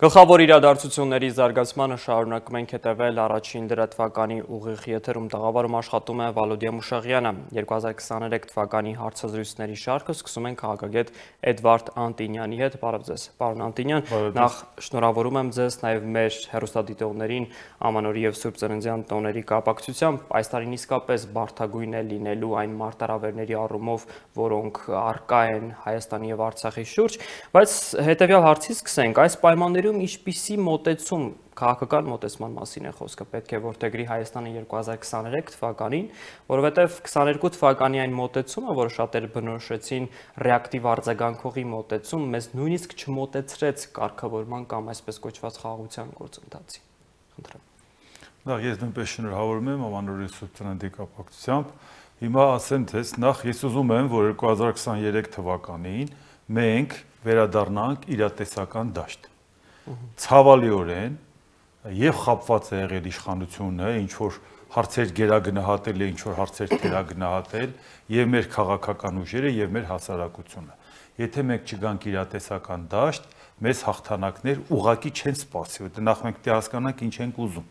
Գլխավոր իրադարձությունների զարգացմանը շարունակում ենք հետևել առաջին դրատվականի ուղիղ եթերում տաղավարում աշխատում է Վալոդիա Մուշաղյանը։ 2023 թվականի հարցազրույցների շարքը սկսում ենք քաղաքագետ Էդվարդ Անտինյանի հետ։ Բարև ձեզ, պարոն Անտինյան, նախ շնորհավորում եմ ձեզ նաև մեր հեռուստադիտողներին Ամանորի եւ Սուրբ Ծննդյան տոների կապակցությամբ։ Այս տարին իսկապես բարդագույն է լինելու այն մարտահրավերների առումով, որոնք առկա են Հայաստանի եւ Արցախի շուրջ, բայց հետեւյալ հարցից սկսենք։ Այս պայմաններում ինչպիսի մոտեցում քաղաքական մոտեցման մասին է խոսքը պետք է որդեգրի Հայաստանը 2023 թվականին, որովհետև 22 թվականի այն մոտեցումը, որը շատերը բնորոշեցին ռեակտիվ արձագանքողի մոտեցում, մեզ նույնիսկ չմոտեցրեց կարգավորման կամ այսպես կոչված խաղաղության գործընթացի։ Խնդրեմ։ Ես նույնպես շնորհավորում եմ Ամանորի Սուրբ Ծննդի կապակցությամբ։ Հիմա ասեմ ձեզ, նախ ես ուզում եմ, որ 2023 թվականին մենք վերադառնանք իրատեսական դաշտ։ Ցավալիորեն եւ խապված է եղել իշխանությունը, ինչ որ հարցեր գերագնահատել է, ինչ որ հարցեր թերագնահատել եւ մեր քաղաքական ուժերը եւ մեր հասարակությունը։ Եթե մենք չգանք իրատեսական դաշտ, մեզ հաղթանակներ ուղակի չեն սպասի, որտեղ նախ մենք պետք է հասկանանք ինչ ենք ուզում։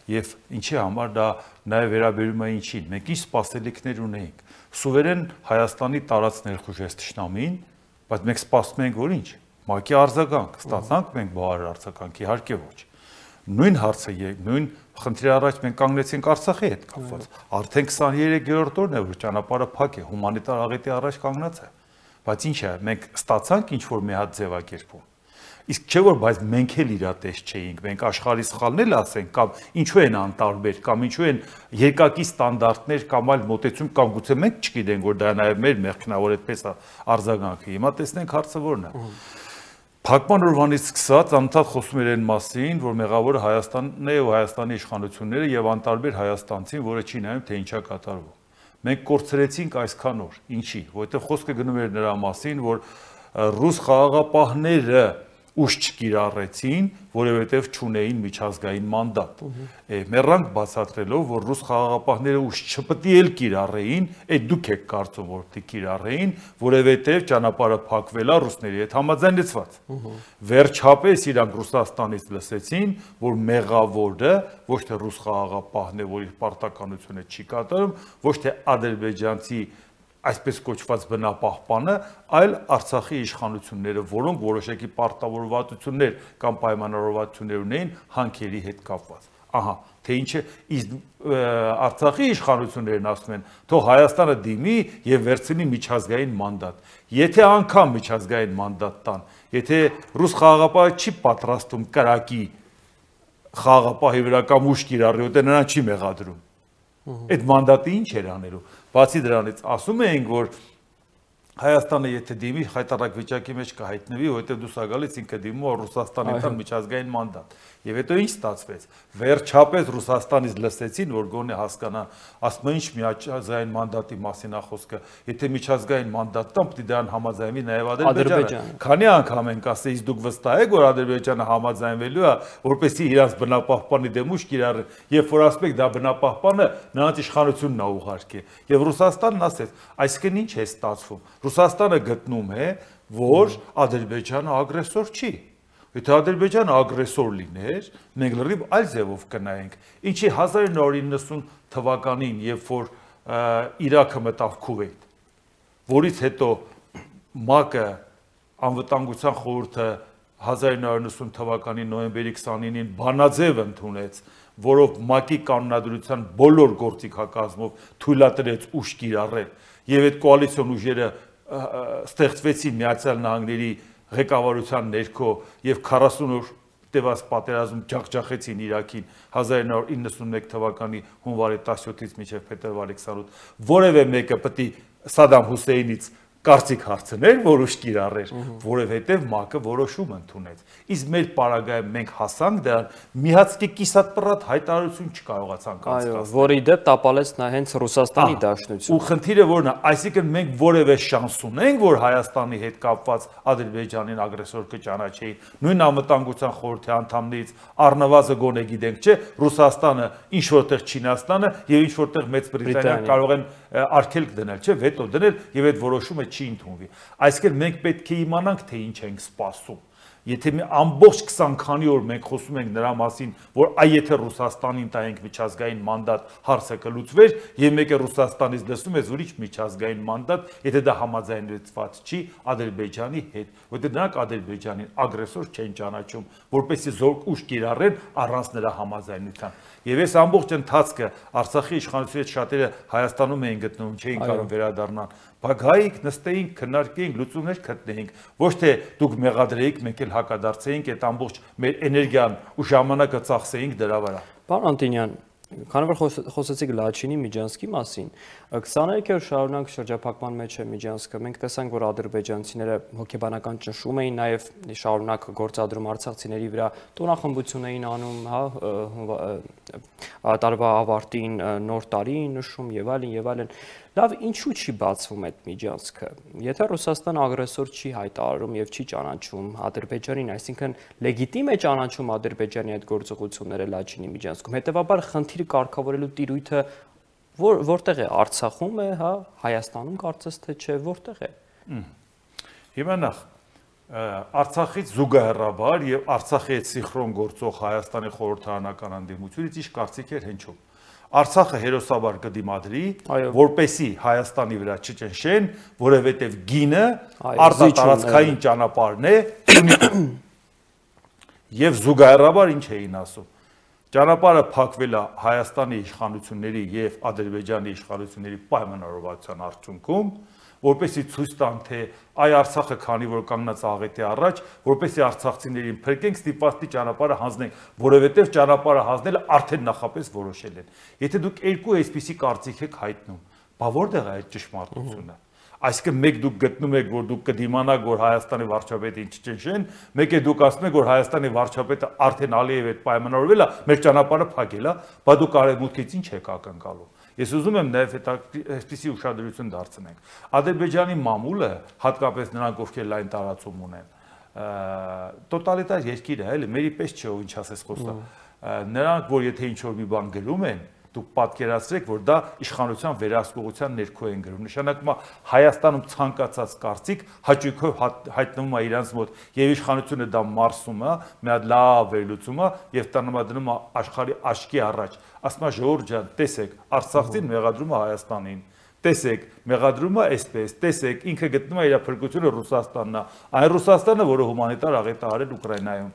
Եվ ինչի համար դա նաև վերաբերում է ինչին։ Մենք ինչ սպասելիքներ ունեինք։ Սուվերեն Հայաստանի տարած ներխուժեց թշնամին, բայց մենք սպասում ենք որ ինչ։ ՄԱԿ-ի արձագանք, ստացանք մենք բավարար արձագանք, իհարկե ոչ։ Նույն հարցը, նույն խնդրի առաջ մենք կանգնեցինք Արցախի հետ կապված։ Արդեն 23-րդ օրն է, որ ճանապարհը փակ է, հումանիտար աղետի առաջ կանգնած է։ Բայց ինչ է, մենք ստացանք ինչ որ մի հատ ձևակերպում։ Իսկ չէ որ բայց մենք էլ իրատես չէինք, մենք աշխարհի սխալն էլ ասենք, կամ ինչու են անտարբեր, կամ ինչու են երկակի ստանդարտներ կամ այլ մոտեցում, կամ գուցե մենք չգիտենք, որ դա նաև մեր մեղքնավոր այդպես արձագանքը։ Հիմա տեսնենք հարցը որն է։ Փակման օրվանից սկսած անընդհատ խոսում էր այն մասին, որ մեղավորը Հայաստանն է ու Հայաստանի իշխանությունները եւ անտարբեր հայաստանցին, որը չի նայում թե ինչա կատարվում։ Մենք կորցրեցինք այսքան օր։ Ինչի՞, որովհետեւ խոսքը գնում էր նրա մասին, որ ռուս խաղաղապահները ուժ չկիրառեցին, որովհետև չունեին միջազգային մանդատ։ Մեռանք բացատրելով, որ ռուս խաղաղապահները ուժ չպետք է էլ կիրառեին, այդ դուք եք կարծում, որ պետք է կիրառեին, որովհետև ճանապարհը փակվել է ռուսների հետ համաձայնեցված։ Վերջապես իրանք Ռուսաստանից լսեցին, որ մեղավորը ոչ թե ռուս խաղաղապահն է, որ իր պարտականությունը չի կատարում, ոչ թե ադրբեջանցի այսպես կոչված բնապահպանը, այլ Արցախի իշխանությունները, որոնք որոշակի պարտավորվածություններ կամ պայմանավորվածություններ ունեին հանքերի հետ կապված։ Ահա, թե ինչը Արցախի իշխանություններն ասում են, թող Հայաստանը դիմի եւ վերցնի միջազգային մանդատ։ Եթե անգամ միջազգային մանդատ տան, եթե ռուս խաղաղապահը չի պատրաստում կրակի խաղաղապահի վրա կամ ուժ կիրառի, որտեղ նրան չի մեղադրում։ Այդ մանդատը ինչ էր անելու։ Բացի դրանից ասում էինք, որ Հայաստանը եթե դիմի խայտարակ վիճակի մեջ կհայտնվի, որովհետև դուս ագալից ինքը դիմում է Ռուսաստանի տան միջազգային մանդատ։ Եվ հետո ինչ ստացվեց։ Վերջապես Ռուսաստանից լսեցին, որ գոնե հասկանան, ասում են ինչ միջազգային մանդատի մասին է խոսքը, եթե միջազգային մանդատ տան, պետք է դրան համաձայնվի նաև Ադրբեջանը։ Քանի անգամ ենք ասել, իսկ դուք վստահ եք, որ Ադրբեջանը համաձայնվելու է, որպեսզի իրաց բնապահպանի դեմ ուժ կիրառի, երբ որ ասում եք դա բնապահպանը նրանց իշխանությունն է ուղարկի։ Եվ Ռուսաստանն ասեց, այսինքն ինչ է ստացվում։ Ռուսաստանը գտնում է, որ Ադրբեջանը ագրեսոր չի։ Եթե Ադրբեջանը ագրեսոր լիներ, մենք լրիվ այլ ձևով կնայենք։ Ինչի 1990 թվականին, երբ որ Իրաքը մտավ Քուվեյթ, որից հետո ՄԱԿ-ը անվտանգության խորհուրդը 1990 թվականի նոյեմբերի 29-ին բանաձև ընդունեց, որով ՄԱԿ-ի կանոնադրության բոլոր գործիքակազմով թույլատրեց ուժ կիրառել, եւ այդ կոալիցիոն ուժերը ստեղծվեցին Միացյալ Նահանգների ղեկավարության ներքո եւ 40 օր տևած պատերազմ ջախջախեցին Իրաքին 1991 թվականի հունվարի 17-ից մինչև փետրվարի 28, որևէ մեկը պետք է Սադամ Հուսեյնից կարծիք հարցներ, որ ուժ կիրառեր, որովհետև ՄԱԿ-ը որոշում ընդունեց։ Իսկ մեր պարագայում մենք հասանք դրան, միացքի կիսատպռատ հայտարարություն չկարողացանք անցկացնել։ Որի դեպ տապալեց նա հենց Ռուսաստանի դաշնությունը։ Ու խնդիրը որն է, այսինքն մենք որևէ շանս ունենք, որ Հայաստանի հետ կապված Ադրբեջանին ագրեսոր կճանաչեին։ Նույն անվտանգության խորհրդի անդամներից առնվազն գոնե գիտենք, չէ, Ռուսաստանը, ինչ որտեղ Չինաստանը եւ ինչ որտեղ Մեծ Բրիտանիան կարող են արգելք դնել, չէ, վետո դնել եւ այդ որոշումը չի ընդունվի։ Այսինքն մենք պետք է իմանանք, թե ինչ ենք սպասում։ Եթե մի ամբողջ 20 քանի օր մենք խոսում ենք նրա մասին, որ այ եթե Ռուսաստանին տայենք միջազգային մանդատ, հարցը կլուծվեր, եւ մեկը Ռուսաստանից լսում է ուրիշ միջազգային մանդատ, եթե դա համաձայնեցված չի Ադրբեջանի հետ, որտեղ նրանք Ադրբեջանին ագրեսոր չեն ճանաչում, որպեսզի զորք ուժ կիրառեն առանց նրա համաձայնության։ Եվ այս ամբողջ ընթացքը Արցախի իշխանությունների հետ շատերը Հայաստանում էին գտնվում, չէին կարող վերադառնալ։ Բայց գայինք, նստեինք, քննարկեինք, լուծումներ գտնեինք։ Ոչ թե դուք մեղադրեիք, մենք էլ հակադարձեինք, այդ ամբողջ մեր էներգիան ու ժամանակը ծախսեինք դրա վրա։ Պարոն Անտոնյան, քանի որ խոսեցիք Լաչինի Միջանցքի մասին, 23 օր շարունակ շրջափակման մեջ է Միջանցքը, մենք տեսանք, որ ադրբեջանցիները հոգեբանական ճնշում էին, նաև շարունակ գործադրում արցախցիների վրա, տոնախմբություն էին անում, տարվա ավարտին նոր տարի նշում եւ այլն։ Լավ, ինչու չի բացվում այդ Միջանցքը։ Եթե Ռուսաստանը ագրեսոր չի հայտարարում եւ չի ճանաչում Ադրբեջանին, այսինքն լեգիտիմ է ճանաչում Ադրբեջանի այդ գործողությունները Լաչինի Միջանցքում։ Հետևաբար խնդիրը կարգավորելու տիրույթը որտեղ է, Արցախում է, հա, Հայաստանում կարծես թե չէ, որտեղ է։ Հիմա նախ Արցախից զուգահեռաբար եւ Արցախի հետ սինխրոն գործող Հայաստանի խորհրդարանական անդամությունից ինչ կարծիք էր հնչում։ Արցախը հերոսաբար կդիմադրի, որպեսի Հայաստանի վրա չճնշեն, որովհետև գինը արտատարածքային ճանապարհն է, եւ զուգահեռաբար ինչ էին ասում։ Ճանապարհը փակվել է Հայաստանի իշխանությունների եւ Ադրբեջանի իշխանությունների պայմանավորվածության արդյունքում, որպեսի ցույց տան, թե այ Արցախը քանի որ կանգնած աղետի առաջ, որպեսի արցախցիներին փրկենք, ստիպվածի ճանապարհը հանձնենք, որովհետև ճանապարհը հանձնելը արդեն նախապես որոշել են։ Եթե դուք երկու այսպիսի կարծիք եք հայտնում, բա որտեղ է այդ ճշմարտությունը։ Այսինքն մեկ դուք գտնում եք, որ դուք կդիմանաք, որ Հայաստանի վարչապետին չճնշեն, մեկ է դուք ասում եք, որ Հայաստանի վարչապետը արդեն Ալիևի հետ պայմանավորվել է, մեր ճանապարհը փակել է, բա դուք արևմուտքից ինչ եք ակնկալում։ Ես ուզում եմ նաև այսպիսի ուշադրություն դարձնենք։ Ադրբեջանի մամուլը, հատկապես նրանք, ովքեր լայն տարածում ունեն, տոտալիտար երկիր է, էլի, մերի պես չէ, ով ինչ ասես խոսա։ Նրանք, որ եթե ինչ-որ մի բան գրում են, դուք պատկերացրեք, որ դա իշխանության վերահսկողության ներքո են գրում։ Նշանակում է Հայաստանում ցանկացած կարծիք հաճույքով հայտնվում է իրանց մոտ եւ իշխանությունը դա մարսում է, մի հատ լավ վերլուծում է եւ տնամադրում է աշխարհի աչքի առաջ։ Ասում է ժողովուրդ ջան, տեսեք, Արցախին մեղադրում է Հայաստանին։ Տեսեք, մեղադրում է այսպես, տեսեք, ինքը գտնում է իր փրկությունը Ռուսաստանն է, այն Ռուսաստանը, որը հումանիտար աղետ է արել Ուկրաինայում։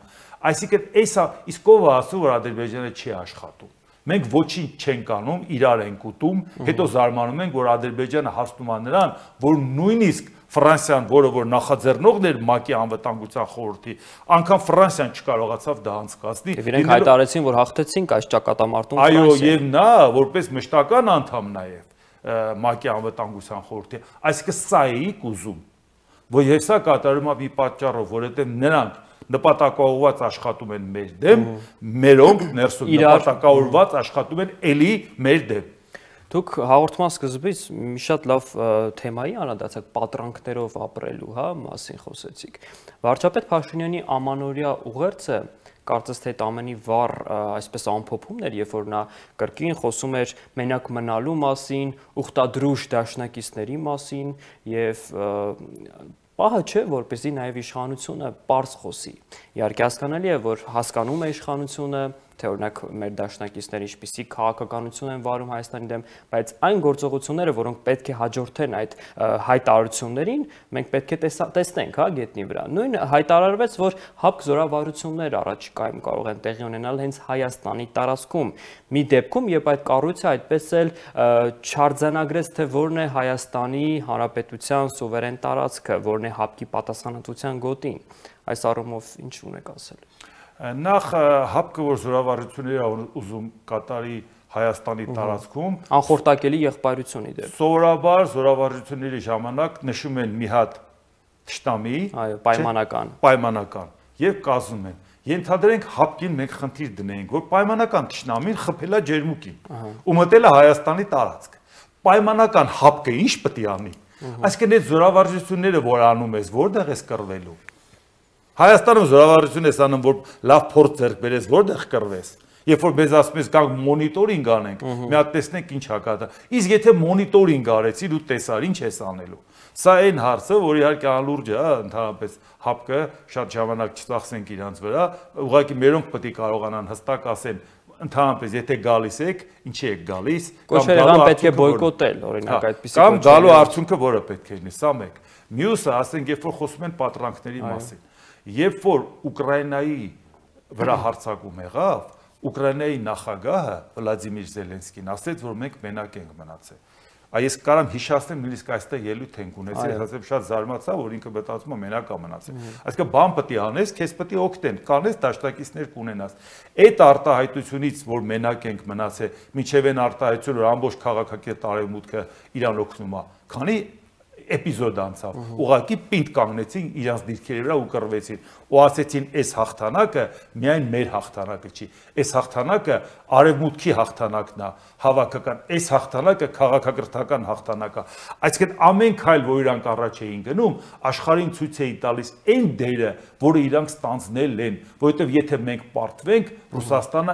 Այսինքն, էսա իսկ ով է ասում, որ Ադրբեջանը չի աշխատում։ Մենք ոչինչ չենք անում, իրար ենք ուտում, հետո զարմանում ենք, որ Ադրբեջանը հաստում է նրան, որ նույնիսկ Ֆրանսիան, որը որ նախաձեռնողն էր ՄԱԿ-ի անվտանգության խորհրդի, անգամ Ֆրանսիան չկարողացավ դա անցկացնել։ Իրենք հայտարարեցին, որ հաղթեցինք այս ճակատամարտում Ֆրանսիան։ Այո, եւ նա որպես մշտական անդամ նաեւ ՄԱԿ-ի անվտանգության խորհրդի, այսինքն սա էիք ուզում, որ եւ սա կատարում է մի պատճառով, որովհետեւ նրանք նպատակաուղված աշխատում են մեր դեմ, մերոնք ներսում նպատակաուղված աշխատում են էլի մեր դեմ։ Դուք հաղորդման սկզբից մի շատ լավ թեմայի անդրադարձաք պատրանքներով ապրելու, հա, մասին խոսեցիք։ Վարչապետ Փաշինյանի ամանորյա ուղերձը կարծես թե այդ ամենի վառ այսպես ամփոփումն էր, երբ որ նա կրկին խոսում էր մենակ մնալու մասին, ուխտադրուժ դաշնակիցների մասին եւ պահը չէ, որպեսզի նաև իշխանությունը պարզ խոսի։ Իհարկե հասկանալի է, որ հասկանում է իշխանությունը, թե օրինակ մեր դաշնակիցները ինչպիսի քաղաքականություն են վարում Հայաստանի դեմ, բայց այն գործողությունները, որոնք պետք է հաջորդեն այդ հայտարարություններին, մենք պետք է տեսնենք, հա, գետնի վրա։ Նույն հայտարարվեց, որ հապկ զորավարություններ առաջիկայում կարող են տեղի ունենալ հենց Հայաստանի տարածքում։ Մի դեպքում, երբ այդ կառույցը այդպես էլ չարձանագրեց, թե որն է Հայաստանի Հանրապետության սուվերեն տարածքը, որն է հապկի պատասխանատվության գոտին։ Այս առումով ինչ ունեք ասել։ Նախ հապկը, որ զորավարությունները ուզում կատարի Հայաստանի տարածքում, անխորտակելի եղբայրություն իդեպ։ Սովորաբար զորավարությունների ժամանակ նշում են մի հատ թշնամի, այո, պայմանական, եւ կազմում են։ Ենթադրենք հապկին մենք խնդիր դնենք, որ պայմանական թշնամին խփել է ջերմուկին ու մտել է Հայաստանի տարածք։ Պայմանական հապկը ինչ պետք է անի։ Այսինքն այդ զորավարությունները, որ անում ես, որտեղ ես կռվելու։ Հայաստանում զորավարություն ես անում, որ լավ փորձ ձեռք բերես, որտեղ կռվես։ Երբ որ մեզ ասում ես գանք մոնիտորինգ անենք, մի հատ տեսնենք ինչ հակատա։ Իսկ եթե մոնիտորինգ արեցիր ու տեսար, ինչ ես անելու։ Սա այն հարցը, որ իհարկե անլուրջ է, ընդհանրապես հապկը շատ ժամանակ չծախսենք իրանց վրա, ուղղակի մերոնք պետք է կարողանան հստակ ասեն, ընդհանրապես եթե գալիս եք, ինչի եք գալիս, կամ պետք է բոյկոտել, օրինակ այդպիսի կամ գալու արդյունքը որը պետք է լինի, սա մեկ։ Մյուսը, ասենք, երբ որ խոսում են պատրանքների մասին, երբ որ Ուկրաինայի վրա հարձակում եղավ, Ուկրաինայի նախագահը Վլադիմիր Զելենսկին ասեց, որ մենք մենակ ենք մնացել։ Այս կարամ հիշացնեմ նույնիսկ այստեղ ելույթ ենք ունեցել, ասեմ շատ զարմացա, որ ինքը մտածում է մենակ է մնացել։ Այսինքն բան պետք է անես, քեզ պետք է օգնեն, կանես դաշնակիցներ կունենաս։ Այդ արտահայտությունից, որ մենակ ենք մնացել, մինչև այն արտահայտությունը, որ ամբողջ քաղաքակիրթ արևմուտքը իրան օգնում է, քանի էպիզոդ անցավ, ուղղակի պինդ կանգնեցին իրանց դիրքերի վրա ու կռվեցին ու ասեցին այս հաղթանակը միայն մեր հաղթանակը չի, այս հաղթանակը արևմուտքի հաղթանակն է, հավաքական, այս հաղթանակը քաղաքակրթական հաղթանակ է, այսինքն ամեն քայլ, որ իրանք առաջ էին գնում, աշխարհին ցույց էին տալիս այն դերը, որը իրանք ստանձնել են, որովհետև եթե մենք պարտվենք, Ռուսաստանը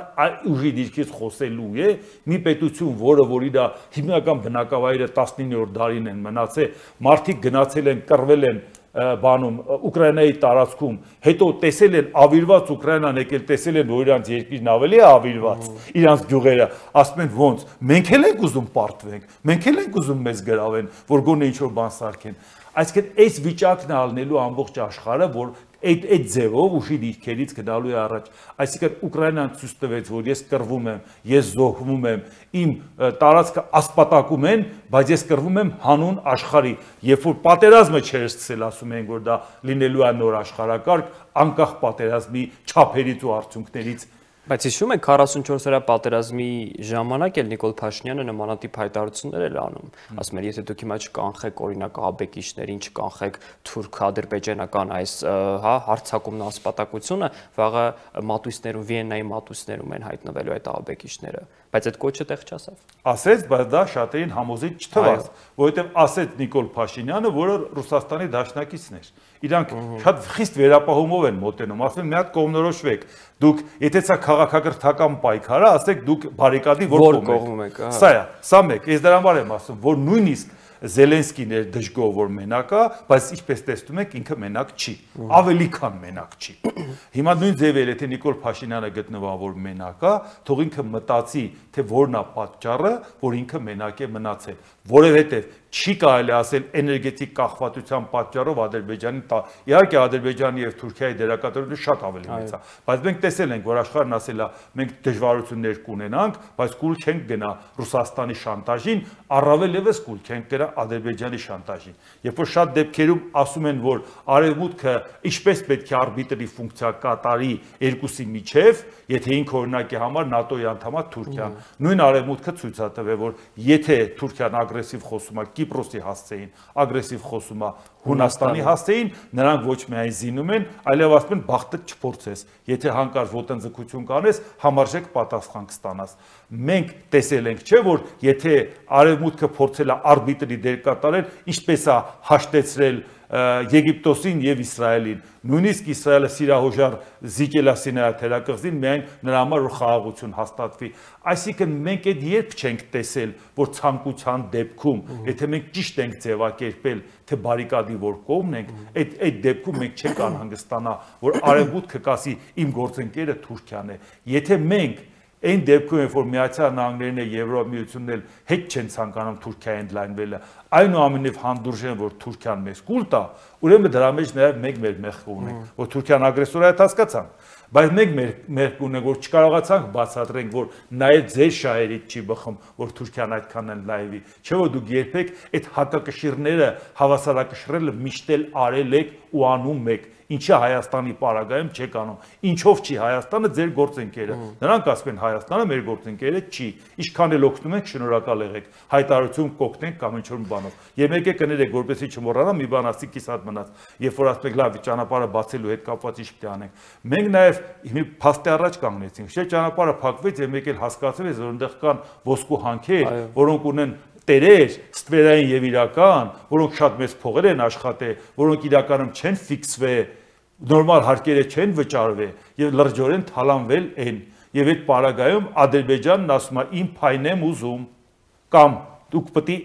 ուժի դիրքից խոսելու է, մի պետություն, որ իր հիմնական բնակավայրը 19-րդ դարին են մնացել, մարդիկ գնացել են, կռվել են բանում Ուկրաինայի տարածքում, հետո տեսել են ավիրված Ուկրաինան եկել, տեսել են, որ իրանց երկիրն ավելի է ավիրված, իրանց գյուղերը, ասում են ոնց, մենք էլ ենք ուզում պարտվենք, մենք էլ ենք ուզում մեզ գրավեն, որ գոնե ինչ-որ բան սարքեն։ Այսինքն այս վիճակն է ալնելու ամբողջ աշխարհը, որ այդ ձևով ուժի դիրքերից գնալու է առաջ։ Այսինքն Ուկրաինան ցույց տվեց, որ ես կռվում եմ, ես զոհվում եմ, իմ տարածքը ասպատակում են, բայց ես կռվում եմ հանուն աշխարհի։ Երբ որ պատերազմը չէր սկսել, ասում են, որ դա լինելու է նոր աշխարհակարգ, անկախ պատերազմի չափերից ու արդյունքներից։ Բայց հիշում եք 44-օրյա պատերազմի ժամանակ էլ Նիկոլ Փաշինյանը նմանատիպ հայտարարություններ էր անում, ասում էր, եթե դուք հիմա չկանխեք օրինակ ահաբեկիչներին, չկանխեք թուրք-ադրբեջանական այս հարձակումն ասպատակությունը, վաղը մատույցներում, Վիեննայի մատույցներում են հայտնվելու այդ ահաբեկիչները, բայց այդ կոչը տեղ չասավ։ Ասեց, բայց դա շատերին համոզիչ չթվաց, որովհետև ասեց Նիկոլ Փաշինյանը, որը Ռուսաստանի դաշնակիցն էր։ Իրանք շատ խիստ վերապահումով են մոտենում, ասում են մի հատ կողմնորոշվեք, դուք եթե ցա քաղաքակրթական պայքար է, ասեք դուք բարիկադի որ կողմում եք։ Սա մեկ, ես դրա համար եմ ասում, որ նույնիսկ Զելենսկին էր դժգոհ, որ մենակ է, բայց ինչպես տեսնում եք, ինքը մենակ չի, ավելի քան մենակ չի։ Հիմա նույն ձևել, եթե Նիկոլ Փաշինյանը գտնվա, որ մենակ է, թող ինքը մտածի, թե որն է պատճառը, որ ինքը մենակ է մնացել, որովհետև չի կարելի ասել էներգետիկ կախվածության պատճառով Ադրբեջանի, իհարկե Ադրբեջանի եւ Թուրքիայի դերակատարությունը շատ ավելի մեծ է, բայց մենք տեսել ենք, որ աշխարհն ասել է, մենք դժվարություններ կունենանք, բայց կուլ չենք գնա Ռուսաստանի շանտաժին, առավել եւս կուլ չենք գնա Ադրբեջանի շանտաժին։ Երբ որ շատ դեպքերում ասում են, որ արևմուտքը ինչպես պետք է արբիտրի ֆունկցիա կատարի երկուսի միջև, եթե ինքը օրինակի համար ՆԱՏՕ-ի անդամ է Թուրքիան, նույն արևմուտքը ցույց է տվել, որ եթե Թուրքիան ագրեսիվ խոսում է Կիպրոսի հասցեին, ագրեսիվ խոսում է Հունաստանի հասցեին, նրանք ոչ միայն զինում են, այլև ասում են բախտը չփորձես, եթե հանկարծ ոտնձգություն կանես, համարժեք պատասխան կստանաս։ Մենք տեսել ենք, չէ՞ որ եթե արևմուտքը փորձել է արբիտրի դեր կատարել, ինչպես է հաշտեցրել Եգիպտոսին եւ Իսրայելին, նույնիսկ Իսրայելը սիրահոժար զիջել է Սինայի թերակղզին միայն նրա համար որ խաղաղություն հաստատվի։ Այսինքն մենք այդ երբ չենք տեսել, որ ցանկության դեպքում, եթե մենք ճիշտ ենք ձևակերպել, թե բարիկադի որ կողմն ենք, այդ դեպքում մենք չենք անհանգստանա, որ արևմուտքը կասի իմ գործընկերը Թուրքիան է։ Եթե մենք այն դեպքում, որ Միացյալ Նահանգներն եւ Եվրոմիությունն էլ հետ չեն ցանկանում Թուրքիայի ընդլայնվելը, այնուամենայնիվ հանդուրժեն, որ Թուրքիան մեզ կուլ տա, ուրեմն դրա մեջ նաեւ մենք մեր մեղքը ունենք, որ Թուրքիան ագրեսոր է, հասկացանք, բայց մենք մեր ունենք, որ չկարողացանք բացատրենք, որ նաեւ ձեր շահերից չի բխում, որ Թուրքիան այդքան ընդլայնվի, չէ՞ որ դուք երբեք այդ հակակշիռները հավասարակշռելը միշտ էլ արել եք ու անում եք, ինչի Հայաստանի պարագայում չեք անում, ինչով չի Հայաստանը ձեր գործընկերը, նրանք ասում են Հայաստանը մեր գործընկերը չի, ինչքան էլ օգնում ենք շնորհակալ եղեք, հայտարարություն կօգնենք կամ ինչ-որ բանով, եւ եկեք կներեք, որպեսզի չմոռանա մի բան ասի կիսատ մնաց, երբ որ ասում եք լավ ճանապարհը բացելու հետ կապված ինչ պետք է անենք, մենք նաեւ մի փաստի առաջ կանգնեցինք, չէ՞ ճանապարհը փակվեց եւ մեկ էլ հասկացվեց, որ այնտեղ կան ոսկու հանքեր, որոնք ունեն տերեր, ստվերային եւ իրական, որոնք շատ մեծ փողեր են աշխատել, որոնք իրականում չեն ֆիքսվել, նորմալ հարկերը չեն վճարվել եւ լրջորեն թալանվել են։ Եվ այդ պարագայում Ադրբեջանն ասում է իմ փայն եմ ուզում, կամ դուք պետք է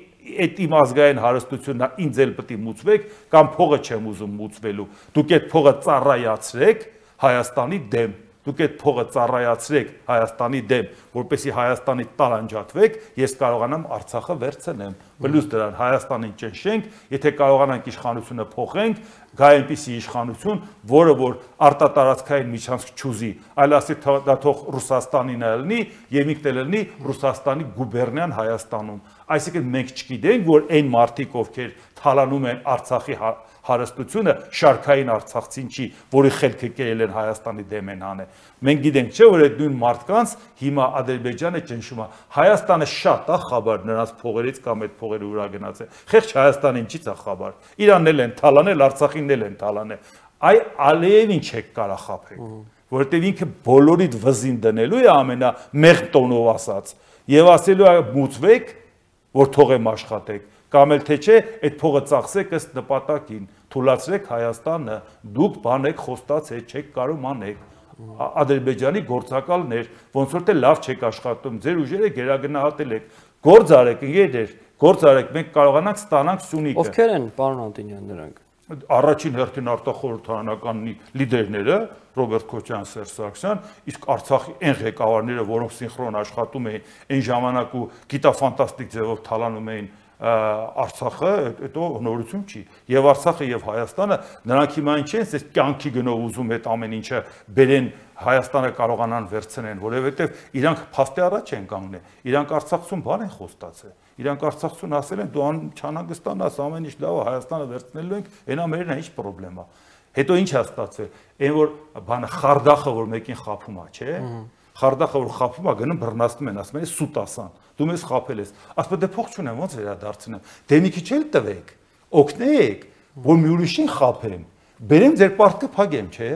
այդ իմ ազգային հարստությունն է, ինձ էլ պետք է մուծվեք, կամ փողը չեմ ուզում մուծվելու։ Դուք այդ փողը ծառայացրեք Հայաստանի դեմ։ Դուք այդ փողը ծառայացրեք Հայաստանի դեմ, որպեսզի Հայաստանի տարանջատվեք, ես կարողանամ Արցախը վերցնեմ։ Պլյուս դրան Հայաստանին ճնշենք, եթե կարողանանք իշխանությունը փոխենք, գա այնպիսի իշխանություն, որը որ արտատարածքային միջանցք չուզի, այլ ասի դա թող Ռուսաստանին ելնի, եւ ինքն էլ ելնի Ռուսաստանի գուբերնիան Հայաստանում։ Այսինքն մենք չգիտենք, որ այն մարդիկ, ովքեր թալանում են Արցախի հարստությունը շարքային արցախցին չի, որի խելքը կերել են Հայաստանի դեմ են հանել։ Մենք գիտենք, չէ, որ այդ նույն մարդկանց հիմա Ադրբեջանը ճնշում է։ Հայաստանը շատ է խաբար նրանց փողերից կամ այդ փողերի վրա գնաց է։ Խեղճ Հայաստանին չի ցա խաբար։ Իրանն էլ են թալանել, Արցախին էլ են թալանել։ Այ Ալիևին չեք կարա խաբեք, որովհետև ինքը բոլորիդ վզին դնելու է ամենամեղ տոնով ասած եւ ասելու է մուծվեք, որ թողեմ աշխատեք։ Կամ էլ թե չէ, այդ փողը ծախսեք ըստ նպատակին, թույլատրեք Հայաստանը, դուք բան եք խոստացել, չեք կարող անեք։ Ադրբեջանի գործակալներ, ոնց որ թե լավ չեք աշխատում, ձեր ուժերը գերագնահատել եք։ Գործ արեք, ընկերներ, գործ արեք, մենք կարողանանք ստանանք Սյունիքը։ Ովքեր են, պարոն Անտոնյան, նրանք։ Առաջին հերթին արտախորհրդարանական լիդերները Ռոբերտ Քոչարյան, Սերժ Սարգսյան, իսկ Արցախի այն ղեկավարները, որոնք սինխրոն աշխատում էին այն ժամանակ ու գիտաֆանտաստիկ ձևով թալանում էին Արցախը, հետո նորություն չի։ Եվ Արցախը եւ Հայաստանը նրանք հիմա ինչ են, այս կյանքի գնով ուզում այդ ամեն ինչը բերեն Հայաստանը կարողանան վերցնեն, որովհետեւ իրանք փաստի առաջ են կանգնել։ Իրանք Արցախցուն բան են խոստացել։ Իրանք Արցախցուն ասել են դու չանհանգստանաս, ամեն ինչ լավ է, Հայաստանը վերցնելու ենք, այնա մերն է, ինչ խնդրեմ է։ Հետո ինչ է ստացվել։ Այն որ բանը Խարդախը, որ մեկին խափում է, չէ՞։ Խարդախը որ խափում է, գնում բռնացնում են, ասում են սուտ ասան։ Դու մեզ խափել ես։ Ասում դե փող չունեմ, ոնց վերադարձնեմ։ Դե մի քիչ էլ տվեք, օգնեք, որ մի ուրիշին խափեմ։ Բերեմ ձեր պարտքը փակեմ, չէ՞։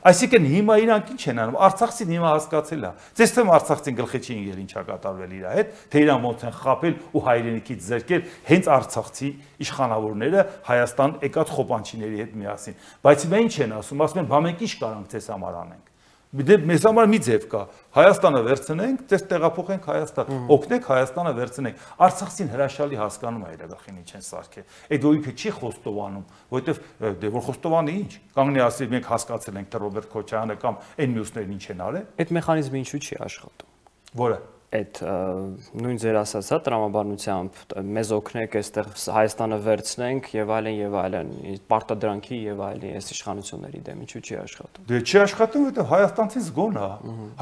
Այսինքն հիմա իրանք ինչ են անում, Արցախցին հիմա հասկացել է։ Ձեզ թվում Արցախցին գլխի չի ընկել ինչա կատարվել իր հետ, թե իրան ոնց են խափել ու հայրենիքից զրկել հենց Արցախցի իշխանավորները Հայաստան եկած խոպանչիների հետ միասին։ Բայց հիմա ինչ են ասում են, բա մենք ինչ կարանք ձեզ համար անենք։ Դե մեզ համար մի ձև կա, Հայաստանը վերցնենք, ձեզ տեղափոխենք Հայաստան, օգնեք Հայաստանը վերցնենք։ Արցախցին հրաշալի հասկանում է իր գլխին ինչ են սարքել։ Այդ որ ինքը չի խոստովանում, որովհետև դե որ խոստովանի ինչ, կանգնի ասի մենք հասկացել ենք թե Ռոբերտ Քոչարյանը կամ այն մյուսներն ինչ են արել։ Այդ մեխանիզմը ինչու չի աշխատում։ Որը այդ նույն ձեր ասած հա տրամաբանությամբ մեզ օգնեք այստեղ Հայաստանը վերցնենք եւ այլն, պարտադրանքի եւ այլն, այս իշխանությունների դեմ ինչու չի աշխատում։ Դե չի աշխատում, որովհետեւ հայաստանցին զգոն է։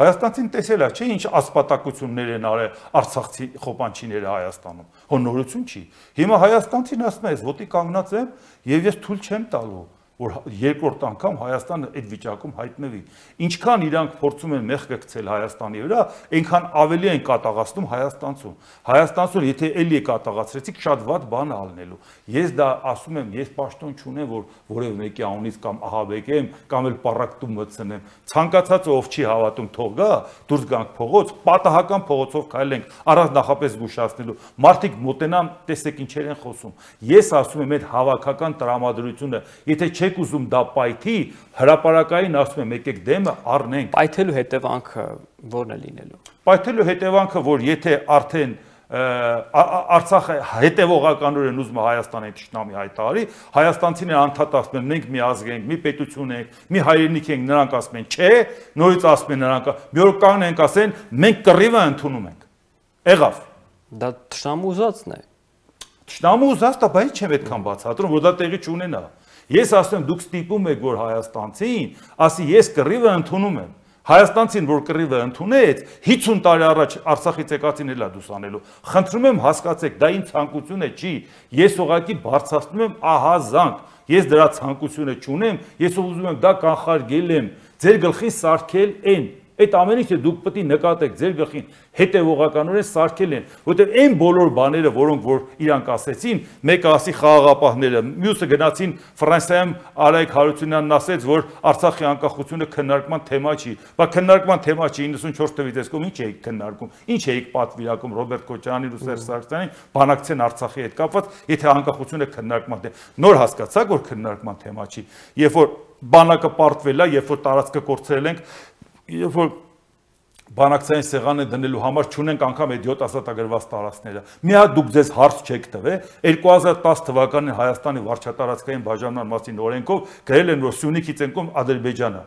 Հայաստանցին տեսել է, չէ՞ ինչ ասպատակություններ են արել Արցախցի խոպանչիները Հայաստանում։ Հո նորություն չի։ Հիմա հայաստանցին ասում է, ես ոտի կանգնած եմ եւ ես թույլ չեմ տալու որ երկրորդ անգամ Հայաստանը այդ վիճակում հայտնվի։ Ինչքան իրանք փորձում են մեղք գցել Հայաստանի վրա, այնքան ավելի են կատաղացնում Հայաստանցուն։ Հայաստանցուն եթե էլի է կատաղացրեցիք, շատ վատ բան է ալնելու։ Ես դա ասում եմ, ես պաշտոն չունեմ, որ որևէ մեկի անունից կամ ահաբեկեմ, կամ էլ պարակտում մտցնեմ։ Ցանկացածը ով չի հավատում, թող գա, դուրս գանք փողոց, պատահական փողոցով քայլենք, առանց նախապես զգուշացնելու։ Մարդիկ մոտենան, տեսեք ինչեր են խոսում։ Ես ասում եմ, այդ հավաքական տրամադրությունը, եթե չեք ուզում դա պայթի, հրապարակային ասում եմ, եկեք դեմը առնենք։ Պայթելու հետևանքը ո՞րն է լինելու։ Պայթելու հետևանքը, որ եթե արդեն Արցախը հետևողականորեն ուզում է Հայաստանի ճշտամի հայտարարի, հայաստանցիները անդադ ասում են, մենք մի ազգ ենք, մի պետություն ենք, մի հայրենիք ենք, նրանք ասում են, չէ, նորից ասում են նրանք, մի օր կանգնենք ասեն, մենք կռիվը ընդունում ենք։ Եղավ։ Դա ճշտամու ուզածն է։ Ճշտամու ուզածն է, բայց չեմ այդքան բացատրում, որ դա տեղի չունենա։ Ես ասում եմ, դուք ստիպում եք, որ հայաստանցին ասի, ես կռիվը ընդունում եմ։ Հայաստանցին, որ կռիվը ընդունեց, 50 տարի առաջ Արցախից եկածին էլա դուս անելու։ Խնդրում եմ հասկացեք, դա իմ ցանկությունը չի։ Ես ուղղակի բարձրացնում եմ ահազանգ։ Ես դրա ցանկությունը չունեմ, ես ուզում եմ դա կանխարգել եմ, ձեր գլխին սարքել են։ Այդ ամեն ինչը դուք պետք է նկատեք ձեր գլխին հետևողականորեն սարքել են, որտեղ այն բոլոր բաները, որոնք որ իրանք ասեցին, մեկը ասի խաղաղապահները, մյուսը գնացին Ֆրանսիայում Արայք Հարությունյանն ասեց, որ Արցախի անկախությունը քննարկման թեմա չի, բայց քննարկման թեմա չի 94 թվականից այս կողմ ինչ էիք քննարկում, ինչ էիք պատվիրակում Ռոբերտ Քոչարյանին ու Սերժ Սարգսյանին, բանակցեն Արցախի հետ կապված, եթե անկախությունը քննարկման թեմա։ Նոր հասկացաք, որ քննարկման թեմա չի, երբ որ բանակը պարտվել է, երբ որ տարածքը կորցրել ենք, երբ որ բանակցային սեղանը դնելու համար չունենք անգամ այդ 7 ասատագրված տարածքները։ Մի հատ դուք ձեզ հարց չեք տվել, 2010 թվականին Հայաստանի վարչատարածքային բաժանման մասին օրենքով գրել են, որ Սյունիքից են կողմ Ադրբեջանը։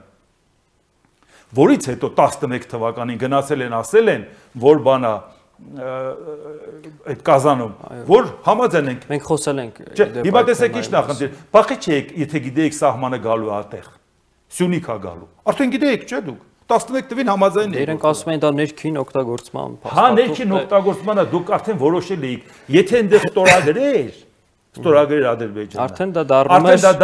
Որից հետո 11 թվականին գնացել են ասել են, որ բանա այդ Կազանում, որ համաձայն ենք։ Մենք խոսել ենք։ Հիմա տեսեք ինչ նախնդիր, բախի չեք, եթե գիտեիք սահմանը գալու ատեղ, Սյունիք է գալու։ Արդեն գիտեիք, չէ՞ դուք։ 11 թվին համաձայն եք։ Իրենք ասում են դա ներքին օգտագործման փաստաթուղթ։ Հա, ներքին օգտագործմանը դուք արդեն որոշել էիք, եթե այնտեղ ստորագրեր Ադրբեջանը։ Արդեն դա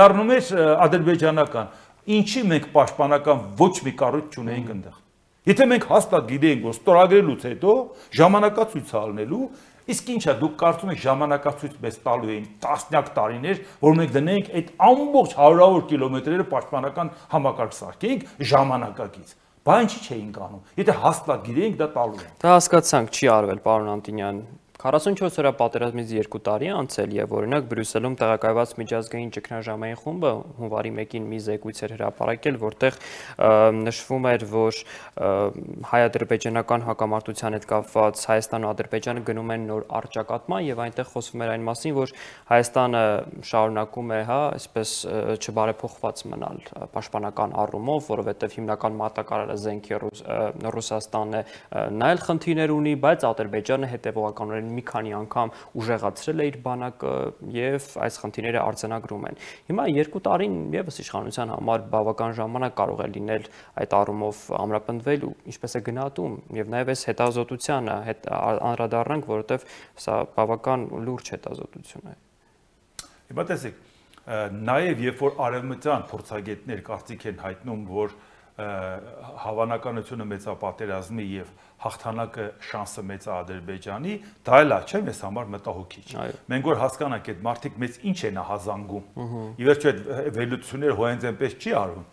դառնում էր ադրբեջանական։ Ինչի մենք պաշտպանական ոչ մի կառույց չունեինք այնտեղ։ Եթե մենք հաստատ գիտեինք, որ ստորագրելուց հետո ժամանակացույց ալնելու, իսկ ինչա դուք կարծում եք ժամանակացույց մեզ տալու էին տասնյակ տարիներ, որ մենք դնենք այդ ամբողջ հարյուրավոր կիլոմետրերը պաշտպանական համակարգ սարքեինք ժամանակակից։ Բա ինչի չէինք անում։ Եթե հաստատ գիտեինք, դա տալու են։ Դա հասկացանք, չի արվել, պարոն Անտոնյան։ 44 օրյա պատերազմից 2 տարի անցել եւ օրինակ Բրյուսելում տեղակայված միջազգային ճգնաժամային խումբը հունվարի 1-ին մի զեկույց էր հրապարակել, որտեղ նշվում էր, որ հայ-ադրբեջանական հակամարտության հետ կապված Հայաստանն ու Ադրբեջանը գնում են նոր առճակատման եւ այնտեղ խոսվում էր այն մասին, որ Հայաստանը շարունակում է, հա, այսպես չբարեփոխված մնալ պաշտպանական առումով, որովհետեւ հիմնական մատակարարը զենքի Ռուսաստանն է, նա էլ խնդիրներ ունի, բայց Ադրբեջանը հետեւողականորեն մի քանի անգամ ուժեղացրել է իր բանակը եւ այս խնդիրները արձանագրում են։ Հիմա 2 տարին եւս իշխանության համար բավական ժամանակ կարող է լինել այդ առումով ամրապնդվելու, ինչպես է գնահատում եւ նաեւ այս հետազոտությանը անդրադառնանք, որովհետեւ սա բավական լուրջ հետազոտություն է։ Հիմա տեսեք, նաեւ երբ որ արևմտյան փորձագետներ կարծիք են հայտնում, որ հավանականությունը մեծապատերազմի եւ հաղթանակը շանսը մեծ է Ադրբեջանի, դա էլ է, չէ՞, մեզ համար մտահոգիչ։ Մենք որ հասկանանք այդ մարդիկ մեծ ինչ են ահազանգում։ Ի վերջո այդ վերլուծությունները հոյենց այնպես չի արվում։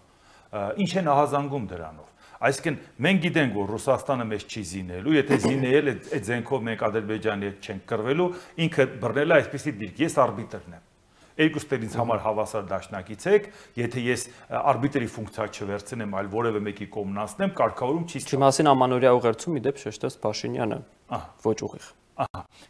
Ինչ են ահազանգում դրանով։ Այսինքն մենք գիտենք, որ Ռուսաստանը մեզ չի զինելու, եթե զինել այդ զենքով մենք Ադրբեջանի հետ չենք կռվելու, ինքը բռնել է այսպեսի դիրք, ես արբիտրն եմ։ Երկուստերից ինձ համար հավասար դաշնակից եք, եթե ես արբիտրի ֆունկցիա չվերցնեմ, այլ որևէ մեկի կողմնացնեմ, կարգավորում չի ստացվում։ Չի մասին ամանորյա ուղերձում ի դեպ շեշտեց Փաշինյանը։ Ոչ ուղիղ։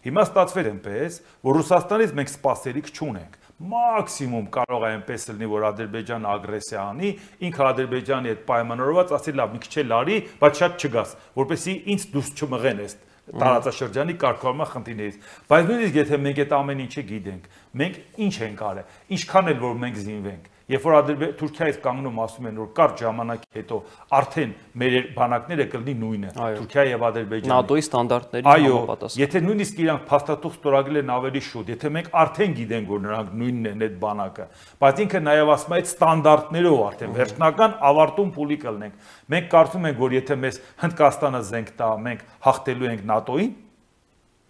Հիմա ստացվել այնպես, որ Ռուսաստանից մենք սպասելիք չունենք։ Մաքսիմում կարող է այնպես լինի, որ Ադրբեջանը ագրեսիա անի, ինքը Ադրբեջանի հետ պայմանավորված ասի լավ, մի քիչ էլ արի, բայց շատ չգաս, որպեսզի ինձ դուրս չմղեն այս տարածաշրջանի կարգավորման խնդիրներից։ Բայց նույնիսկ եթե մենք այդ ամեն ինչը գիտենք, մենք ինչ ենք արել, ինչքան էլ որ մենք զինվենք, երբ որ Թուրքիայից կանգնում ասում են, որ կարճ ժամանակի հետո արդեն մեր բանակները կլինի նույնը, Թուրքիա եւ Ադրբեջանը։ ՆԱՏՕ-ի ստանդարտների համապատասխան։ Եթե նույնիսկ իրանք փաստաթուղթ ստորագրել են ավելի շուտ, եթե մենք արդեն գիտենք, որ նրանք նույնն են այդ բանակը, բայց ինքը նաեւ ասում է այդ ստանդարտներով արդեն վերջնական ավարտում փուլի կլինենք։ Մենք կարծում ենք, որ եթե մեզ Հնդկաստանը զենք տա, մենք հաղթելու ենք ՆԱՏՕ-ին,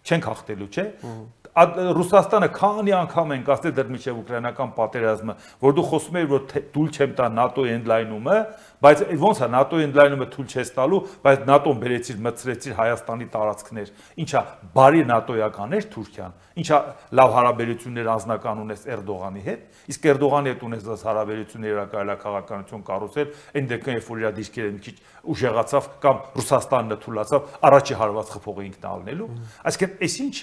չենք հաղթելու, չէ՞։ Ռուսաստանը քանի անգամ են ասել դեռ մինչև ուկրաինական պատերազմը, որ դու խոսում ես, որ թույլ չեմ տա ՆԱՏՕ-ի ընդլայնումը, բայց ոնց է ՆԱՏՕ-ի ընդլայնումը թույլ չես տալու, բայց ՆԱՏՕ-ն բերեցիր, մտցրեցիր Հայաստանի տարածքներ, ինչա բարի ՆԱՏՕ-ական էր Թուրքիան, ինչա լավ հարաբերություններ անձնական ունես Էրդողանի հետ, իսկ Էրդողանի հետ ունես հարաբերություններ քաղաքականություն կառուցել, այն դեպքում երբ որ իր դիրքերը մի քիչ ուժեղացավ կամ Ռուսաստանն թույլացավ, առաջի հարված խփողը ինքն ալնելու, այսինքն այս ինչ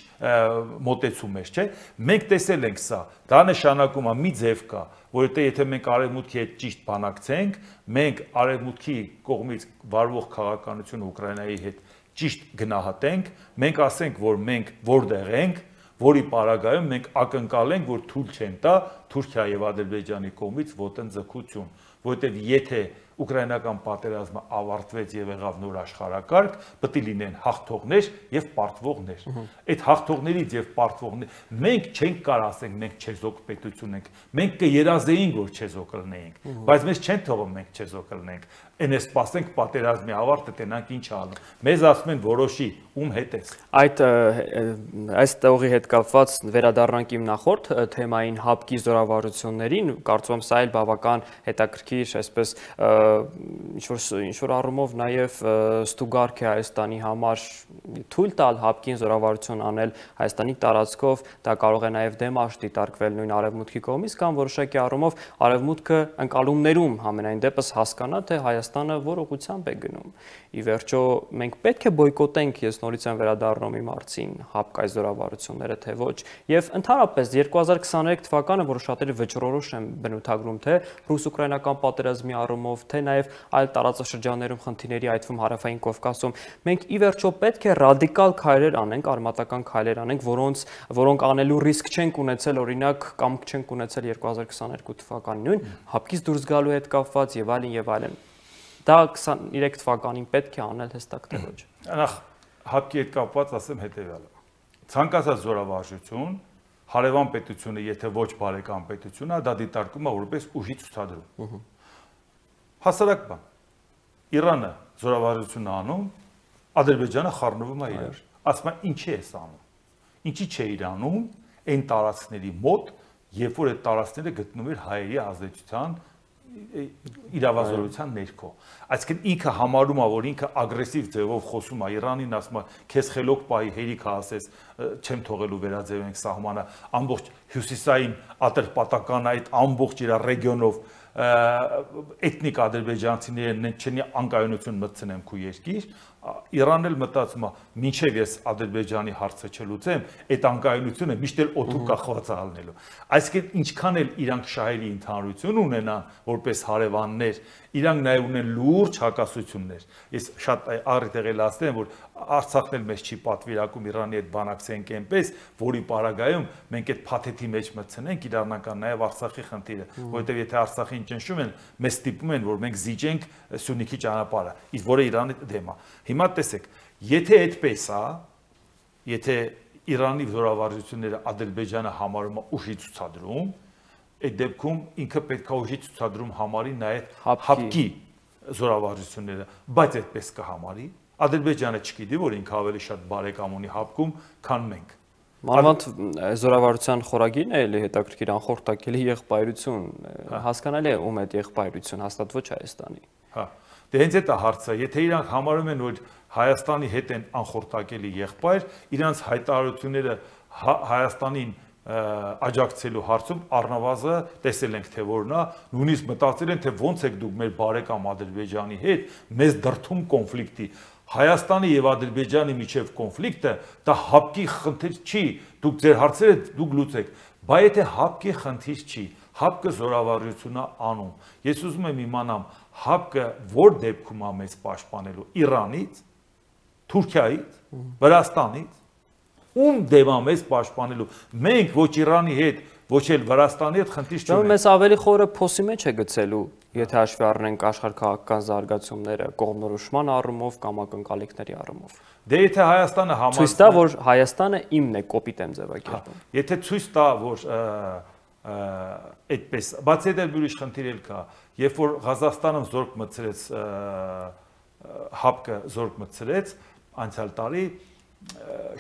մոտեցում է, չէ՞։ Մենք տեսել ենք սա, դա նշանակում է մի ձև կա, որովհետեւ եթե մենք արևմուտքի հետ ճիշտ բանակցենք, մենք արևմուտքի կողմից վարվող քաղաքականությունը Ուկրաինայի հետ ճիշտ գնահատենք, մենք ասենք, որ մենք որտեղ ենք, որի պարագայում մենք ակնկալենք, որ թույլ չեն տա Թուրքիա եւ Ադրբեջանի կողմից ոտնձգություն, որովհետեւ եթե ուկրաինական պատերազմը ավարտվեց եւ եղավ նոր աշխարհակարգ, պետք է լինեն հաղթողներ եւ պարտվողներ։ Այդ հաղթողներից եւ պարտվողներ մենք չենք կարող ասենք մենք չեզոք պետություն ենք, մենք կերազեինք որ չեզոք լինենք, բայց մեզ չեն թողում մենք չեզոք լինենք։ Այն է սպասենք պատերազմի ավարտը, տենանք ինչ անում։ Մեզ ասում են որոշի, ում հետ ես։ Այս տողի հետ կապված վերադառնանք իմ նախորդ թեմային հապկի զորավարություններին, կարծում եմ սա էլ բավական հետաքրքիր, այսպես ինչ-որ առումով նաև ստուգարք է Հայաստանի համար թույլ տալ ՀԱՊԿ-ին զորավարություն անել Հայաստանի տարածքով, դա կարող է նաև դեմարշ դիտարկվել նույն Արևմուտքի կողմից կամ որոշակի առումով Արևմուտքը ընկալումներում համենայն դեպս հասկանա, թե Հայաստանը որ ուղղությամբ է գնում։ Ի վերջո մենք պետք է բոյկոտենք, ես նորից եմ վերադառնում իմ հարցին, ՀԱՊԿ-ի զորավարությունները, թե ոչ, եւ ընդհանրապես 2023 թվականը, որը շատերը վճռորոշ են բնութագրում, թե ռուս-ուկրաինական պատերազմի առումով, թե նաև այլ տարածաշրջաններում խնդիրների, այդ թվում Հարավային Կովկասում, մենք ի վերջո պետք է ռադիկալ քայլեր անենք, արմատական քայլեր անենք, որոնք անելու ռիսկ չենք ունեցել, օրինակ, կամ չենք ունեցել 2022 թվականին նույն ՀԱՊԿ-ից դուրս գալու հետ կապված եւ այլն եւ այլն։ Դա 23 թվականին պետք է անել հստակ թե ոչ։ Նախ ՀԱՊԿ-ի հետ կապված ասեմ հետեւյալը։ Ցանկացած զորավարժություն, հարևան պետությունը, եթե ոչ բարեկամ պետությունը, դա դիտարկում է որպես ուժի ցուցադրում։ Հասարակ բան։ Իրանը զորավարժություն անում, Ադրբեջանը խառնվում է իրար։ Ասում է ինչի է անում։ Ինչի չէ իրանում այն տարածքների մոտ, երբ որ այդ տարածքները գտնվում էր հայերի ազդեցության իրավազորության ներքո։ Այսինքն ինքը համարում է, որ ինքը ագրեսիվ ձևով խոսում է Իրանին, ասում է, քեզ խելոք պահի հերիք ասես, չեմ թողելու վերաձևենք սահմանը, ամբողջ հյուսիսային ատրպատական այդ ամբողջ իր ռեգիոնով էթնիկ ադրբեջանցիներն չեն անկայունություն մտցնեմ քու երկիր, Իրանն էլ մտածում է, մինչև ես Ադրբեջանի հարցը չլուծեմ, այդ անկայունությունը միշտ էլ օդու կախված է ալնելու։ Այսինքն ինչքան էլ իրանք շահերի ընդհանրություն ունենան որպես հարևաններ, իրանք նաև ունեն լուրջ հակասություններ։ Ես շատ առիթ եղել ասեմ, որ Արցախն էլ մեզ չի պատվիրակում Իրանի հետ բանակցենք այնպես, որի պարագայում մենք այդ փաթեթի մեջ մտցնենք իրանական նաև Արցախի խնդիրը, որովհետև եթե Արցախին ճնշում են, մեզ ստիպում են, որ մենք զիջենք Սյունիքի ճանապարհը, իսկ որը Իրանի դեմ է։ Հիմա տեսեք, եթե այդպես է, եթե Իրանի զորավարժությունները Ադրբեջանը համարում է ուժի ցուցադրում, այդ դեպքում ինքը պետք է ուժի ցուցադրում համարի նաև ՀԱՊԿ-ի զորավարժությունները, բայց այդպես կհամարի։ Ադրբեջանը չգիտի, որ ինքը ավելի շատ բարեկամ ունի ՀԱՊԿ-ում, քան մենք։ Մանավանդ զորավարության խորագիրն է էլի հետաքրքիր անխորտակելի եղբայրություն, հասկանալի է ում այդ եղբայրություն, հաստատ ոչ Հայաստանի։ Հա, դե հենց այդ է հարցը, եթե իրանք համարում են, որ Հայաստանի հետ են անխորտակելի եղբայր, իրանց հայտարարությունները Հայաստանին աջակցելու հարցում առնվազը տեսել ենք թե որն է, նույնիսկ մտածել են թե ոնց եք դուք մեր բարեկամ Ադրբեջանի հետ մեզ դրդում կոնֆլիկտի։ Հայաստանի եւ Ադրբեջանի միջև կոնֆլիկտը դա ՀԱՊԿ-ի խնդիր չի, դուք ձեր հարցերը դուք լուծեք, բայց եթե ՀԱՊԿ-ի խնդիր չի, ՀԱՊԿ-ը զորավարժությունն է անում։ Ես ուզում եմ իմանամ ՀԱՊԿ-ը որ դեպքում է մեզ պաշտպանելու Իրանից, Թուրքիայից, Վրաստանից, ում դեմ է մեզ պաշտպանելու։ Մենք ոչ Իրանի հետ, ոչ էլ Վրաստանի հետ խնդիր չունենք։ Մեզ ավելի խորը փոսի մեջ է գցելու, եթե հաշվի առնենք աշխարհքաղաքական զարգացումները կողմնորոշման առումով կամ ակնկալիքների առումով։ Դե եթե Հայաստանը ցույց տա, որ Հայաստանը իմն է, կոպիտ եմ ձևակերպում։ Եթե ցույց տա, որ այդպես, բացի այդ ուրիշ խնդիր էլ կա, երբ որ Ղազախստանը զորք մտցրեց ՀԱՊԿ-ը զորք մտցրեց անցյալ տարի,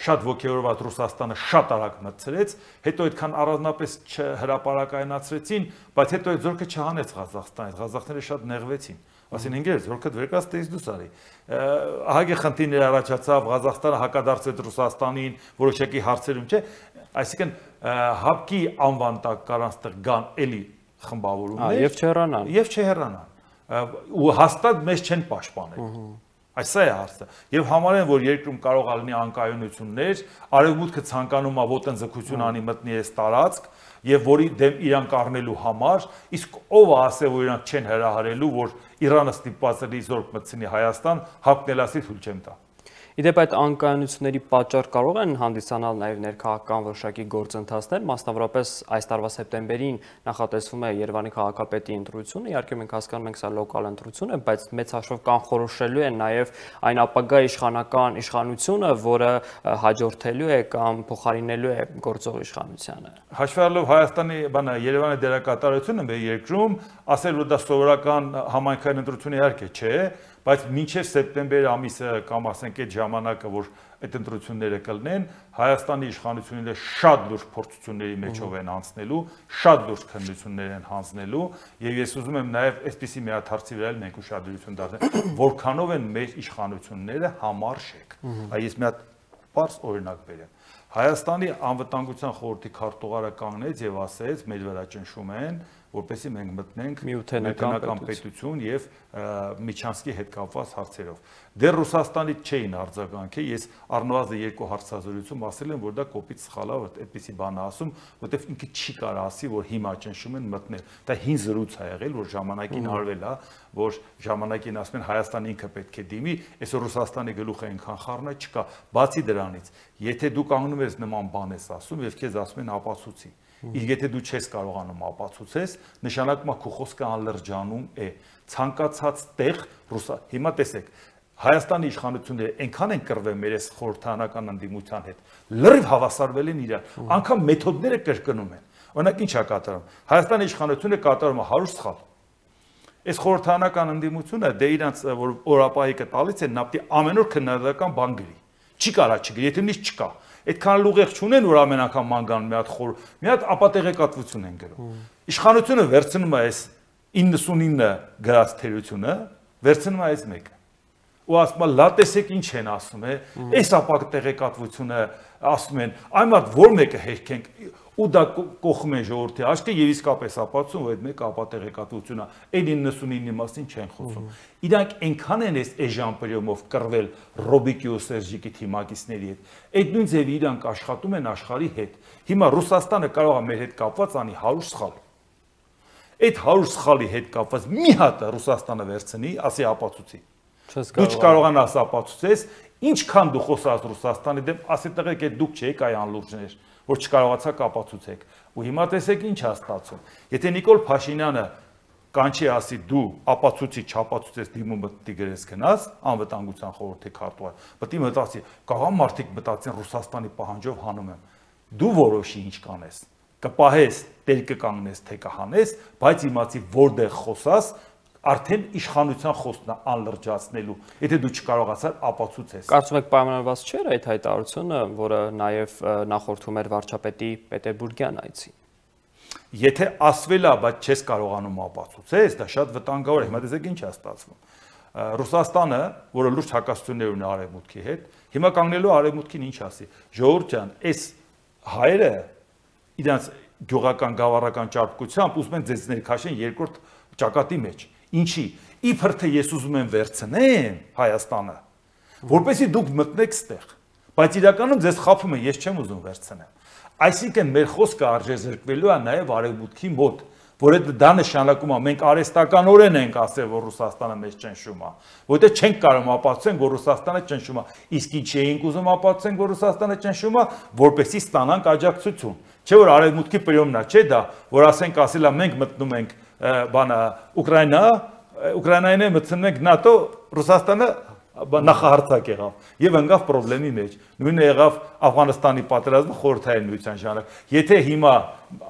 շատ ոգևորված Ռուսաստանը շատ արագ մտցրեց, հետո այդքան առանձնապես չհրապարակայնացրեցին, բայց հետո այդ զորքը չհանեց Ղազախստանից, ղազախները շատ նեղվեցին, ասին ինգեր զորքը վերկաց տես դուս արի։ Ահագի խնդիրներ առաջացավ, Ղազախստանը հակադարձեց Ռուսաստանին, որոշակի հարցերում չէ, այսինքն ՀԱՊԿ-ի անվան տակ կարան ստեղ գան էլի խմբավորումներ եւ չհեռանան ու հաստատ մեզ չեն պաշտպանել։ Այս է հարցը։ Եվ համարեն, որ երկրում կարող է լինի անկայունություններ, արևմուտքը ցանկանում է ոտնձգություն անի մտնի այս տարածք եւ որի դեմ իրանք առնելու համար, իսկ ով է ասել, որ իրանք չեն հրահարելու, որ Իրանը ստիպված է զորք մտցնի Հայաստան, ՀԱՊԿ-ն էլ ասի թույլ չեմ տա։ Իդեպ այդ անկայունությունների պատճառ կարող են հանդիսանալ նաև ներքաղաքական որոշակի գործընթացներ, մասնավորապես այս տարվա սեպտեմբերին նախատեսվում է Երևանի քաղաքապետի ընտրությունը, իհարկե մենք հասկանում ենք սա լոկալ ընտրություն է, բայց մեծ հաշվով կանխորոշելու է նաև այն ապագա իշխանական իշխանությունը, որը հաջորդելու է կամ փոխարինելու է գործող իշխանությանը։ Հաշվի առնելով Հայաստանի Երևանի դերակատարությունը մեր երկրում, ասել որ դա սովորական համայնքային ընտրություն իհարկե չէ, բայց մինչև սեպտեմբեր ամիսը կամ ասենք այդ ժամանակը, որ այդ ընտրությունները կլինեն, Հայաստանի իշխանությունները շատ լուրջ փորձությունների մեջով են անցնելու, շատ լուրջ քննություններ են հանձնելու, եւ ես ուզում եմ նաեւ այսպիսի մի հատ հարցի վրա մենք ուշադրություն դարձնել, որքանով են մեր իշխանությունները համարժեք։ Այս մի հատ բարձ օրինակ բերեմ։ Հայաստանի անվտանգության խորհրդի քարտուղարը կանգնեց եւ ասեց, մեր վրա ճնշում են, որպեսզի մենք մտնենք միութենական պետություն եւ Միչանսկի հետ կապված հարցերով։ Դեռ Ռուսաստանից չէին արձագանքի, ես առնվազն 2 հարցազրույցում ասել եմ, որ դա կոպիտ սխալ է, որ այդպեսի բան ասում, որտեվ ինքը չի կարող ասի, որ հիմա ճնշում են մտնել։ Դա հին զրույց է եղել, որ ժամանակին արվել է, որ ժամանակին ասում են Հայաստանը ինքը պետք է դիմի, այսօր Ռուսաստանի գլուխը այնքան խառնա չկա։ Բացի դրանից, եթե դու կանգնում ես նման բան ես ասում եւ քեզ ասում են ապացուցի, իսկ եթե դու չես կարողանում ապացուցես, նշանակում է քո խոսքը անլրջանում է։ Ցանկացած տեղ հիմա տեսեք, Հայաստանի իշխանությունները այնքան են կռվել մեր այս խորհրդանական ընդդիմության հետ, լրիվ հավասարվել են իրար, անգամ մեթոդները կրկնում են։ Օրինակ ինչ է կատարում։ Հայաստանի իշխանությունը կատարում է 100 սխալ։ Այս խորհրդանական ընդդիմությունը դե իրանց որ օրապահիկը տալիս են նավթի ամեն օր քննադատական բան գրի։ Չի կարա չգրի, եթե նույնիսկ չկա։ Այդքան լուղեղ չունեն, որ ամեն անգամ մանգան մի հատ ապատեղեկատվություն են գրում։ Իշխանությունը վերցնում է այս 99 գրած թերությունը, վերցնում է այս մեկը։ Ու ասում է, լա տեսեք ինչ են ասում, այս ապատեղեկատվությունը ասում են, այն մատ որ մեկը հերքենք ու դա կողմ են ժողովրդի աչքը եւ իսկապես ապացուցում, որ այդ մեկը ապատեղեկատվություն է, այդ 99-ի մասին չեն խոսում։ Իրանք այնքան են այս էժանպրյոմով կռվել Ռոբիկի ու Սերժիկի թիմակիցների հետ, այդ նույն ձևի իրանք աշխատում են աշխարհի հետ։ Հիմա Ռուսաստանը կարող է մեր հետ կապված անի 100 սխալ։ Այդ 100 սխալի հետ կապված մի հատ Ռուսաստանը վերցնի, ասի ապացուցի։ Դու չկարողանաս ապացուցես, ինչքան դու խոսած Ռուսաստանի դեմ, ասի տղեկ, այդ դուք չեք այ անլուրջներ, որ չկարողացաք ապացուցեք։ Ու հիմա տեսեք ինչ է ստացվում։ Եթե Նիկոլ Փաշինյանը կանչի ասի դու ապացուցի, չապացուցես դիմում մտի գրես գնաս, անվտանգության խորհրդի քարտուղար, պետք է մտածի, կարող մարդիկ մտածեն Ռուսաստանի պահանջով հանում եմ։ Դու որոշի ինչ կանես։ Կպահես, տեր կկանգնես, թե կհանես, բայց իմացի որտեղ խոսաս արդեն իշխանության խոսքն է անլրջացնելու, եթե դու չկարողացար ապացուցես։ Կարծում եք պայմանավորված չէր այդ հայտարարությունը, որը նաև նախորդում էր վարչապետի Պետերբուրգյան այցին։ Եթե ասվել է, բայց չես կարողանում ապացուցես, դա շատ վտանգավոր է։ Հիմա տեսեք ինչ է ստացվում։ Ռուսաստանը, որը լուրջ հակասություններ ունի արևմուտքի հետ, հիմա կանգնելու արևմուտքին ինչ ասի։ Ժողովուրդ ջան, այս հայերը իրանց գյուղական գավառական ճարպկությամբ ուզում են ձեզ ներքաշեն երկրորդ ճակատի մեջ։ Ինչի, իբր թե ես ուզում եմ վերցնեմ Հայաստանը, որպեսզի դուք մտնեք ստեղ, բայց իրականում ձեզ խաբում են, ես չեմ ուզում վերցնեմ։ Այսինքն մեր խոսքը արժեզրկվելու է նաև արևմուտքի մոտ, որ դա նշանակում է մենք արհեստականորեն ենք ասել, որ Ռուսաստանը մեզ ճնշում է, որովհետև չենք կարող ապացուցենք, որ Ռուսաստանը ճնշում է, իսկ ինչ էինք ուզում ապացուցենք, որ Ռուսաստանը ճնշում է, որպեսզի ստանանք աջակցություն։ Չէ՞ որ արևմուտքի պրիոմն է, չէ՞ դա, որ ասենք ասելա մենք մտնում ենք բանը Ուկրաինային է մտցնում ենք ՆԱՏՕ, Ռուսաստանը նախահարցակ եղավ եւ ընկավ խնդրի մեջ։ Նույնը եղավ Աֆղանստանի պատերազմը խորհրդային միության ժամանակ։ Եթե հիմա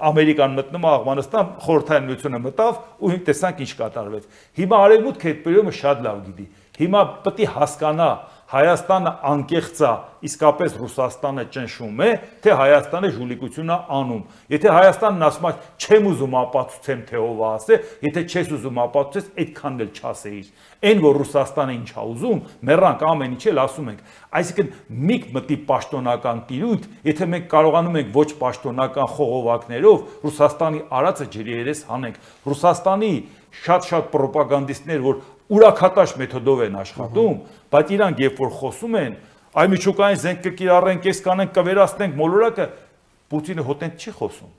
Ամերիկան մտնում է Աֆղանստան, խորհրդային միությունը մտավ ու տեսանք ինչ կատարվեց։ Հիմա արևմուտքը այդ պրիոմը շատ լավ գիտի։ Հիմա պետք է հասկանա Հայաստանը անկեղծ է, իսկապես Ռուսաստանը ճնշում է, թե Հայաստանը ժուլիկություն է անում։ Եթե Հայաստանն ասում է, չեմ ուզում ապացուցեմ, թե ով է ասել, եթե չես ուզում ապացուցես, այդքանն էլ չասեիր։ Այն որ Ռուսաստանը ինչ է ուզում, մեռանք ամեն ինչ էլ ասում ենք։ Այսինքն մի մտի պաշտոնական տիրույթ, եթե մենք կարողանում ենք ոչ պաշտոնական խողովակներով Ռուսաստանի արածը ջրի երես հանենք։ Ռուսաստանի շատ պրոպագանդիստներ, որ ուրաքատաշ մեթոդով են աշխատում, բայց իրանք երբ որ խոսում են, այ միջուկային զենք կկիրառենք, այս կանենք, կվերացնենք մոլորակը, Պուտինը հոտենտ չի խոսում։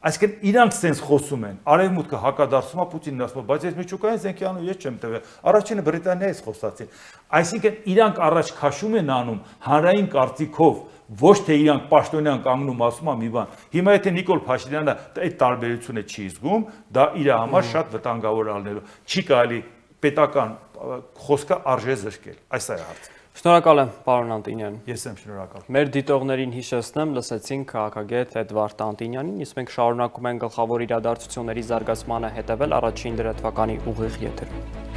Այսինքն իրանք սենց խոսում են, արևմուտքը հակադարձում է Պուտինին ասում, բայց այս միջուկային զենքի անուն ես չեմ տվել։ Առաջինը Բրիտանիայից խոսացին։ Այսինքն իրանք առաջ քաշում են անում հանրային կարծիքով, ոչ թե իրանք պաշտոնյան կանգնում ասում է մի բան։ Հիմա եթե Նիկոլ Փաշինյանը այդ տարբերությունը չի զգում, դա իր համար շատ վտանգավոր ալնելու։ Չի կարելի պետական խոսքը արժե զրկել։ Այս է հարցը։ Շնորհակալ եմ, պարոն Անտինյան։ Ես եմ շնորհակալ։ Մեր դիտողներին հիշեցնեմ, լսեցինք քաղաքագետ Էդվարդ Անտինյանին, իսկ մենք շարունակում ենք գլխավոր իրադարձությունների զարգացմանը հետևել առաջին դրեթվականի ուղիղ եթերում։